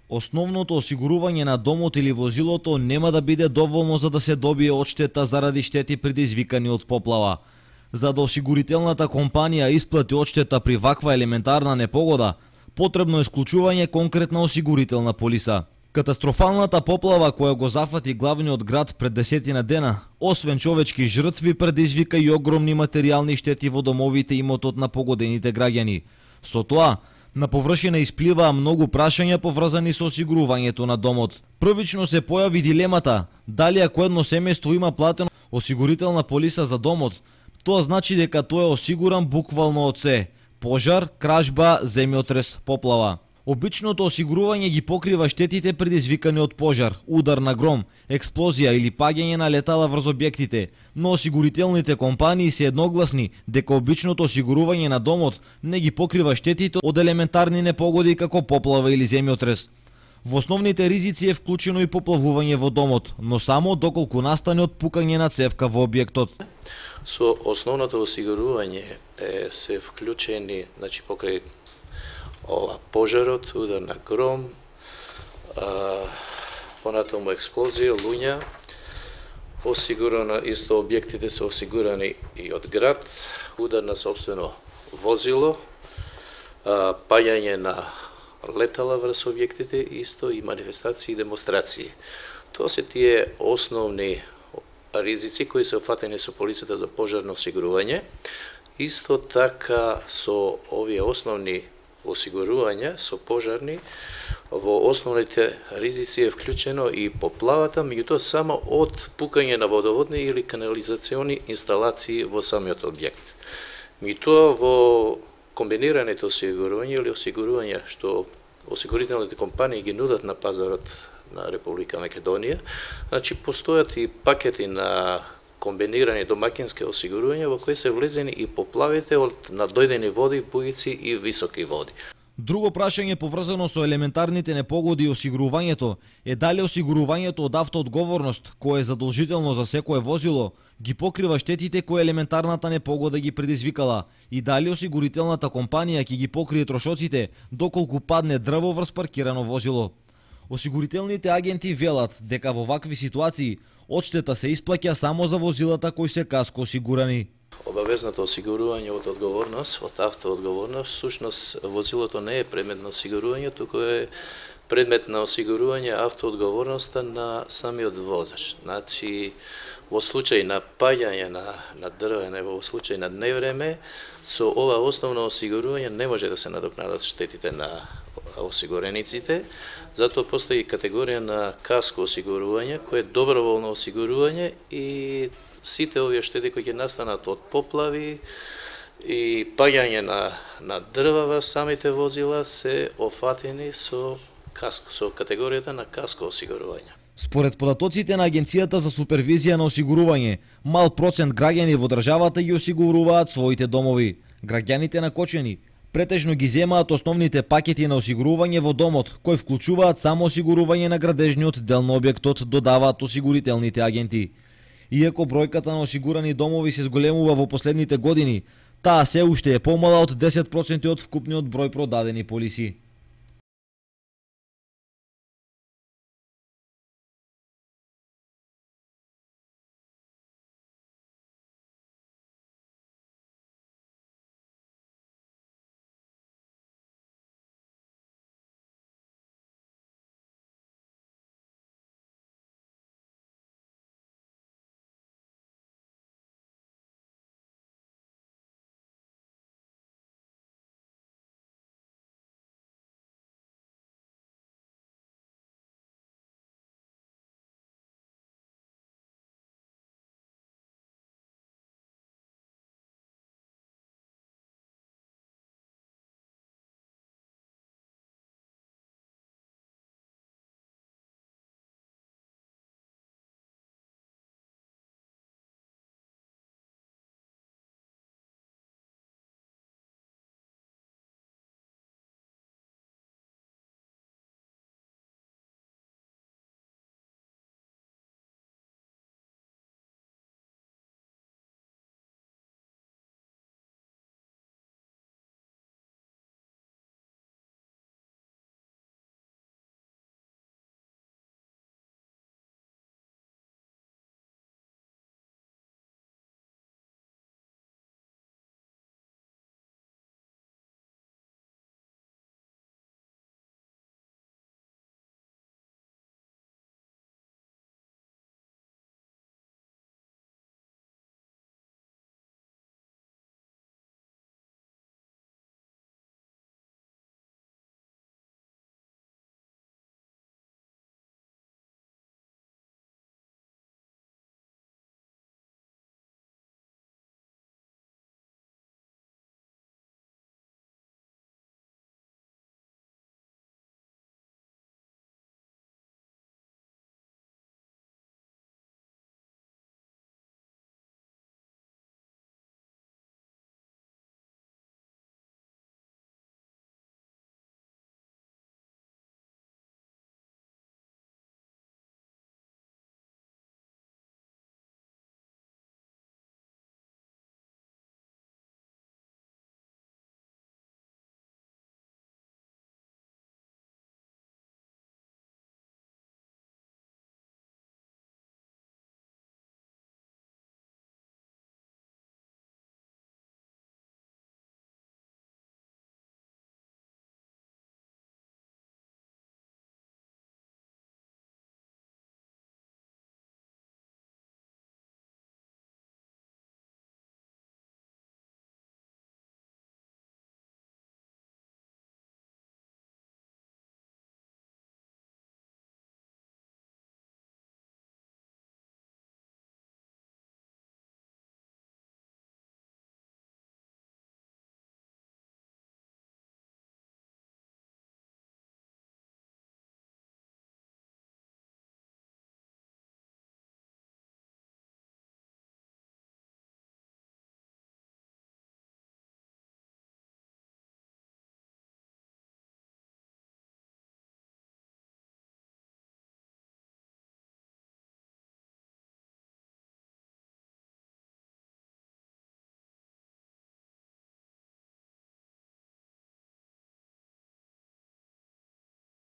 Основното осигурување на домот или возилото нема да биде доволно за да се добие одштета заради штети предизвикани од поплава. За да осигурителната компанија исплати одштета при ваква елементарна непогода, потребно е склучување конкретна осигурителна полиса. Катастрофалната поплава која го зафати главниот град пред 10 дена, освен човечки жртви, предизвика и огромни материјални штети во домовите и имотот на погодените граѓани. Со тоа, на површина испливаа многу прашања поврзани со осигурувањето на домот. Првично се појави дилемата дали ако едно семејство има платено осигурителна полиса за домот, тоа значи дека тој е осигуран буквално од се: пожар, кражба, земјотрес, поплава. Обичното осигурување ги покрива штетите предизвикани од пожар, удар на гром, експлозија или паѓање на летала врз објектите, но осигурителните компании се едногласни дека обичното осигурување на домот не ги покрива штетите од елементарни непогоди како поплава или земјотрес. Во основните ризици е вклучено и поплавување во домот, но само доколку настане отпукање на цевка во објектот. Со основното осигурување се вклучени, покрај пожарот, удар на гром, понатаму експлозија, луѓе, осигурано исто објектите се осигурани и од град, удар на сопствено возило, паѓање на летала врз објектите, исто и манифестации и демонстрации. Тоа се тие основни ризици кои се офатени со полисата за пожарно осигурување. Исто така со овие основни осигурувања со пожарни, во основните ризици е вклучено и поплавата, меѓутоа само од пукање на водоводни или канализациони инсталации во самиот објект. Меѓутоа во комбинираните осигурувања или осигурувања што осигурителните компании ги нудат на пазарот на Република Македонија, постојат и пакети на комбинирани домакински осигурувања во кои се влезени и поплавите од надојдени води, бујици и високи води. Друго прашање поврзано со елементарните непогоди и осигурувањето е дали осигурувањето од автоодговорност, кое е задолжително за секое возило, ги покрива штетите кои елементарната непогода ги предизвикала и дали осигурителната компанија ќе ги покрие трошоците доколку падне дрво врз паркирано возило. Осигурителните агенти велат дека во вакви ситуации одштета се исплаќа само за возилата кои се каско осигурани. Обавезното осигурување од одговорност, од автоодговорност, всушност возилото не е предмет на осигурување, туку е предмет на осигурување автоодговорноста на самиот возач. Во случај на паѓање на дрвене, во случај на невреме, со ова основно осигурување не може да се надокнадат штетите на осигурениците, затоа постои категорија на каско осигурување, кое е доброволно осигурување и сите овие штети кои ќе настанат од поплави и паѓање на дрва во самите возила се офатени со категоријата на каско осигурување. Според податоците на Агенцијата за супервизија на осигурување, мал процент граѓани во државата ги осигуруваат своите домови. Граѓаните на Кочени претежно ги земаат основните пакети на осигурување во домот, кои вклучуваат само осигурување на градежниот дел на објектот, додаваат осигурителните агенти. Иако бројката на осигурани домови се зголемува во последните години, таа се уште е помала од 10% од вкупниот број продадени полиси.